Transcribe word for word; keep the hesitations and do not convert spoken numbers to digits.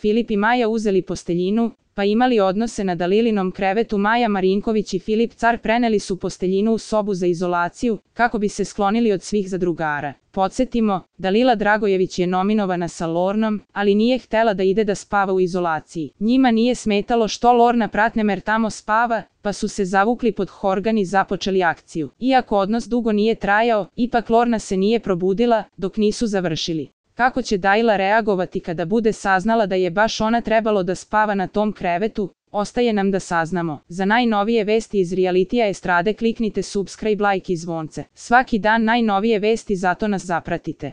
Filip i Maja uzeli posteljinu, pa imali odnose na Dalilinom krevetu. Maja Marinković i Filip Car preneli su posteljinu u sobu za izolaciju, kako bi se sklonili od svih zadrugara. Podsjetimo, Dalila Dragojević je nominovana sa Lornom, ali nije htela da ide da spava u izolaciji. Njima nije smetalo što Lorna Pratnemer tamo spava, pa su se zavukli pod horgan i započeli akciju. Iako odnos dugo nije trajao, ipak Lorna se nije probudila, dok nisu završili. Kako će Dalila reagovati kada bude saznala da je baš ona trebalo da spava na tom krevetu, ostaje nam da saznamo. Za najnovije vesti iz realitija estrade kliknite subscribe, like i zvonce. Svaki dan najnovije vesti, zato nas zapratite.